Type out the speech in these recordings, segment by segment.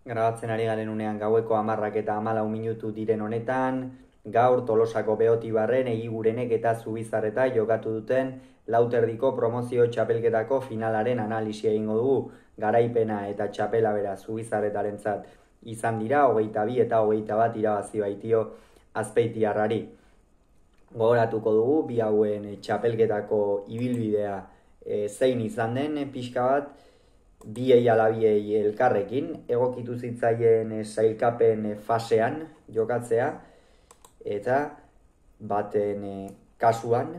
Grabatzen ari garen unean gaueko 10:14 diren honetan, gaur Tolosako Beotibarren, Egigurenek eta Zubizarreta jokatu duten lauterdiko promozio txapelketako finalaren analisia egingo dugu. Garaipena eta txapela bera Zubizarretarentzat izan dira, 22 eta 21 irabazi baitio Azpeitiarrari. Gogoratuko dugu, bi hauen txapelketako ibilbidea zein izan den pixka bat, biei ala biei elkarrekin, egokitu zitzaien sailkapen fasean jokatzea, eta baten kasuan,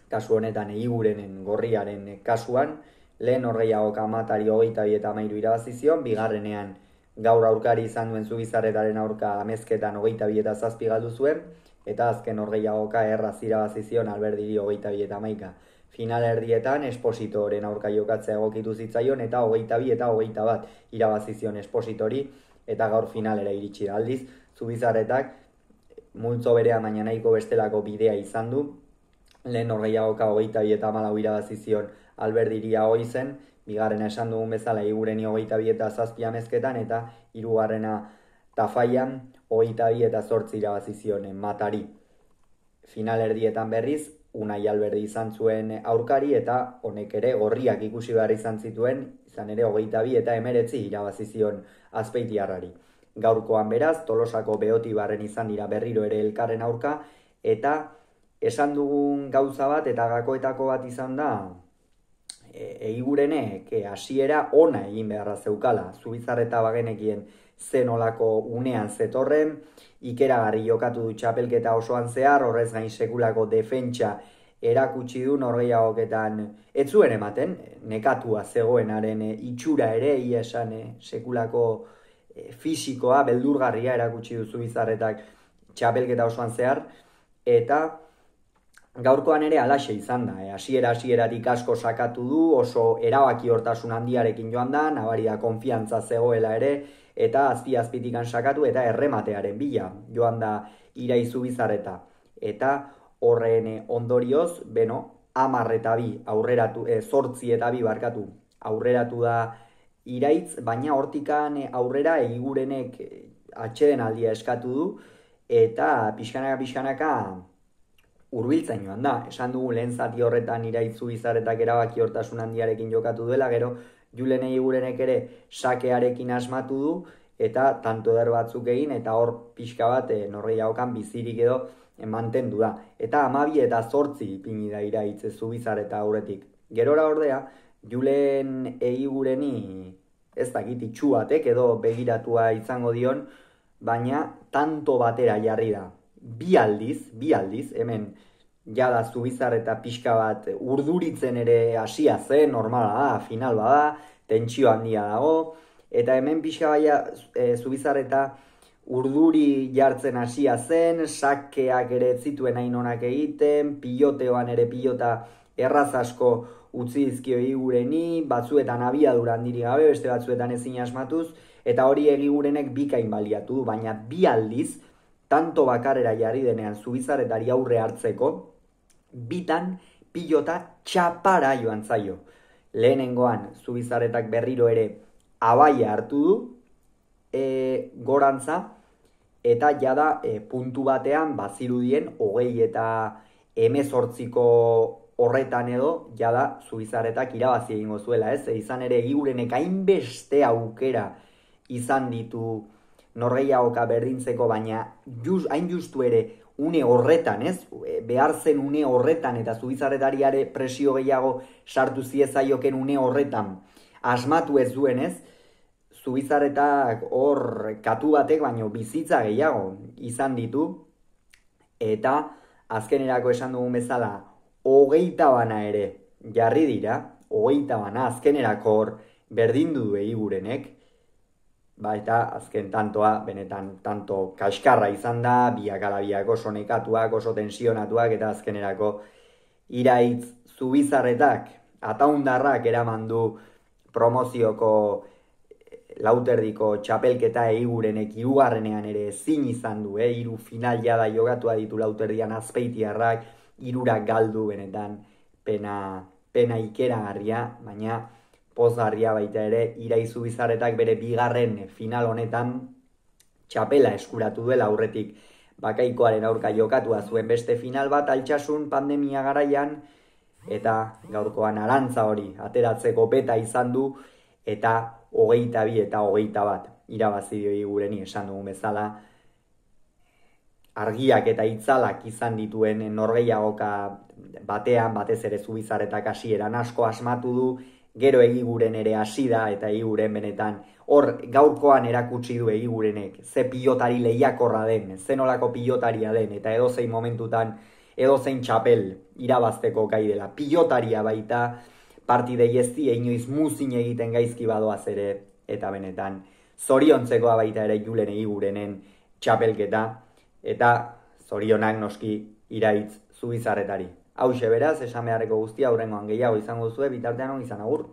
kasu honetan Egigurenen gorriaren kasuan, lehen Norgehiagoka Amatari 22 eta 13 irabazi zion, bigarrenean gaur aurkari izan duen Zubizarretaren aurka amezketan 22 eta 7 galdu zuen, eta azken Norgehiagoka erraz irabazi zion Alberdiri 22 eta 11. Final erdietan Espositoren aurka jokatzea egokitu zitzaion eta 22 eta 21 irabazi zion Espositori, eta gaur finalera iritsi da. Aldiz, Zubizarretak multzo berea baina nahiko bestelako bidea izan du. Lehen Norgehiagoka 22 eta 14 irabazi zion Alberdiri zen, bigarrena esan dugun bezala Egigureni 22 eta 7 amezketan, eta hirugarrena Tafaian 22 eta 8 irabazi zion Matari. Final erdietan berriz Unai Alberdi izan zuen aurkari, eta honek ere gorriak ikusi behar izan zituen, izan ere 22 eta 19 irabazi zion Azpeitiarrari. Gaurkoan beraz, Tolosako Beotibarren izan dira berriro ere elkarren aurka, eta esan dugun gauza bat eta gakoetako bat izan da, Egigurenek hasiera ona egin beharra zeukala. Zubizarreta bagenekien zenolako unean zetorren, ikeragarri jokatu du txapelketa osoan zehar, horrez gain sekulako defentsa erakutsi du Norgehiagoketan ez zuen ematen, nekatua zegoenaren itxura ere, ia esan sekulako fisikoa, beldurgarria erakutsi du Zubizarretak txapelketa osoan zehar, eta gaurkoan ere alaxe izan da, hasieratik asko sakatu du, oso erabaki hortasun handiarekin joan da, nabari da konfiantza zegoela ere, eta azpitikan sakatu eta errematearen bila joan da Irai Zubizarreta. Eta horren ondorioz, 10 eta 2 aurreratu, 8 eta 2 barkatu aurreratu da Iraitz, baina hortikan aurrera Egigurenek atxeden aldia eskatu du, eta pixkanaka hurbiltzen joan da. Esan dugu lehen zati horretan Iraitz Zubizarretak erabaki hortasun handiarekin jokatu duela, gero Julen Egigurenek ere sakearekin asmatu du, eta tanto eder batzuk egin, eta hor pixka bat Norgehiagokan bizirik edo mantendu da. Eta 12 eta 8 ipini da Iraitz Zubizarreta aurretik. Gerora ordea, Julen Egigureni ez dakit itxu batek edo begiratua izango dion, baina tanto batera jarri da. Bi aldiz, hemen jada Zubizarreta pixka bat urduritzen ere hasia zen, normala da, final bada, tentsio handia dago, eta hemen pixka baia Zubizarreta urduri jartzen hasia zen, sakeak ere zituen hain onak egiten, piloteoan ere pilota erraz asko utzi dizkio Egigureni, batzuetan abiadura handirik gabe, beste batzuetan ezin asmatuz, eta hori Egigurenek bikain baliatu du, baina bi aldiz, tanto bakarera jarri denean Zubizarretari aurre hartzeko, bitan pilota txapara joan zaio. Lehenengoan Zubizarretak berriro ere abaia hartu du, gorantza, eta jada puntu batean bazirudien 20 eta 18ko horretan edo, jada Zubizarretak irabazi egingo zuela, ez? Izan ere Egigurenek hainbeste aukera izan ditu Norgehiagoka berdintzeko, baina hain justu ere une horretan, ez? Behar zen une horretan, eta Zubizarretari ere presio gehiago sartu ziezaioken une horretan asmatu ez duen, ez? Zubizarretak hor katu batek baino bizitza gehiago izan ditu, eta azkenerako esan dugun bezala 20 bana ere jarri dira, 20 bana azkenerako hor berdindu du Egigurenek, eta azken tantoa, benetan tanto kaskarra izan da, biak ala biak oso nekatuak, oso tensionatuak, eta azkenerako Iraitz Zubizarretak ataundarrak eraman du promozioko lauterdiko txapelketa Egigurenek hirugarrenean ere ezin izan du, hiru final jada jogatua ditu lauterdian Azpeitiarrak, hirurak galdu, benetan pena ikeragarria, baina pozgarria baita ere, Irai Zubizarretak bere bigarren final honetan txapela eskuratu duela aurretik Bakaikoaren aurka jokatua zuen beste final bat Altsasun pandemia garaian, eta gaurkoan arantza hori ateratzeko beta izan du, eta 22 eta 21 irabazi dio Igureni, esan dugun bezala. Argiak eta itzalak izan dituen norgehiagoka batean, batez ere Zubizarretak hasieran asko asmatu du, gero Egiguren ere hasi da, eta Egiguren benetan hor gaurkoan erakutsi du Egigurenek ze pilotari lehiakorra den, ze nolako pilotaria den, eta edozein momentutan edozein txapel irabazteko gai dela. Pilotaria baita, partidei ez die inoiz muzin egiten gaizki badoaz ere, eta benetan zoriontzekoa baita ere Julen Egigurenen txapelketa, eta zorionak noski Iraitz Zubizarretari. Hauxe beraz, esan beharreko guztia, hurrengoan gehiago izango zuen, bitartean on izan, agur.